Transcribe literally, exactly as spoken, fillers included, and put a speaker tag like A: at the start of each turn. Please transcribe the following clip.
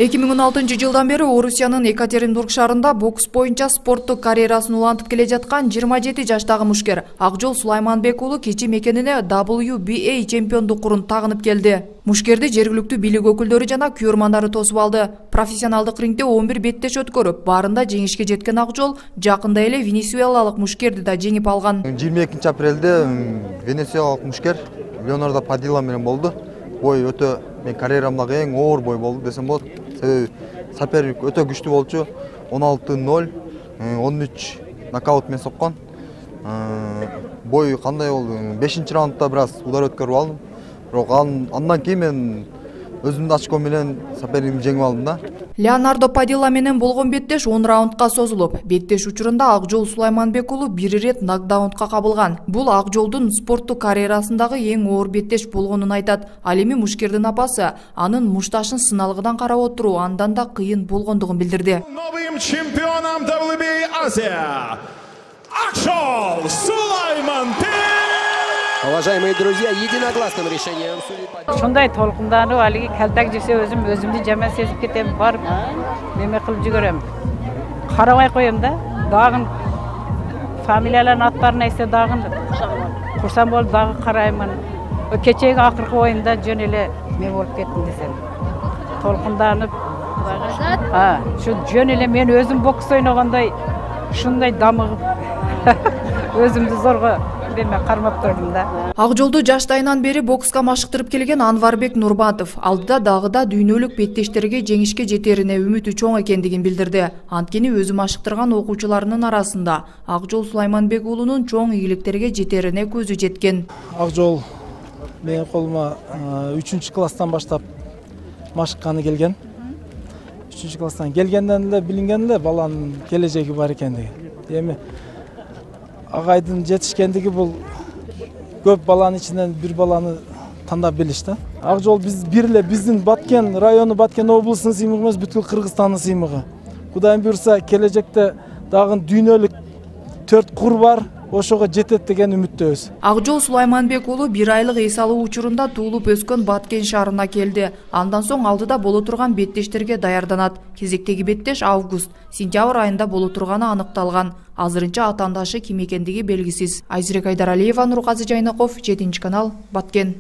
A: эки миң он алтынчы жылдан бери Орусиянын Екатеринбург шаарында бокс боюнча спорттук карьерасын улантып келе жаткан жыйырма жети жаштагы мушкер Акжол Сулайманбек уулу кечи мекенине дабл ю би эй чемпиондук курун тагынып келди. Мушкерди жергиликтүү бийлик өкүлдөрү жана күйөрмандары тосуп алды. Профессионалдык рингде он бир беттеш өткөрүп, баарында жеңишке жеткен Акжол жакында эле венесуэлалык мушкерди да жеңип алган.
B: жыйырма экинчи апрелде венесуэлалык мушкер Леонардо Падила менен болду. Бой өтө мен карьерамдагы эң оор бой болду десем болот. Себеби соперник өтө күчтүү болчу. он алты ноль, он үч нокаут менен соккон. Бой кандай болду? бешинчи раундда бир аз удар өткөрүп алдым. Бирок андан кийин мен өзүмдүн очко менен соперникти жеңип алдым да.
A: Леонардо Падила менен болгон беттеш он раундка созулуп, беттеш учурунда Акжол Сулайманбек уулу бир ирет нокдаунга кабылган. Бул Акжолдун спорттук карьерасындагы эң оор беттеш болгонун айтат. Ал эми мушкердин апасы анын мушташын сыналгыдан карап отуруу андан да кыйын болгондугун билдирди.
C: Новым чемпионом дабл ю би эй Азия Акжол Сулайманбек.
D: Уважаемые друзья, единогласным решением
E: Шундай толкунданып, алиги калтак жесе өзүм өзүмдү жаман сезип кетем, барып неме кылып жүгөрөм. Карабай коем да, дагы фамилиялардын аттарын эсе дагы курсам болуп дагы караймын. Кечеги акыркы оюнда жөн эле мен болуп кеттим десем. Толкунданып, а, шу жөн эле мен өзүм бокс ойногондой шундай дамыгып өзүмдү зорго деме кармап турдум да.
A: Акжолду жаштайынан бери бокска машыктырып келген Анварбек Нурбатов алдыда дагы да дүйнөлүк беттештерге жеңишке жетерине үмүтү чоң экендигин билдирди. Анткени өзү машыктырган окуучуларынын арасында Акжол Сулайманбек уулунун чоң ийгиликтерге жетерине көзү жеткен.
F: Акжол менин колума үчүнчү класстан баштап машыкканы келген. үчүнчү класстан келгенден эле билинген эле баланын келечеги бар экендиги. Эми агайдын жетишкендиги бул көп баланын ичинен бир баланы тандап билиш да. Акжол биз бир эле биздин Баткен району, Баткен облусунун сыймыгы эмес, бүткүл Кыргызстандын сыймыгы. Кудайым буйрса, келечекте дагы дүйнөлүк төрт кур бар, ошого жетет деген үмүттөбүз.
A: Акжол Сулайманбек уулу бир айлык эс алуу учурунда туулуп өскөн Баткен шаарына келди. Андан соң алдыда боло турган беттештерге даярданат. Кезектеги беттеш август, сентябрь айында боло турганы аныкталган. Азырынча атаандашы ким экендиги белгисиз. Айзирек Айдаралиева, Нурказы Жайнаков, жетинчи канал, Баткен.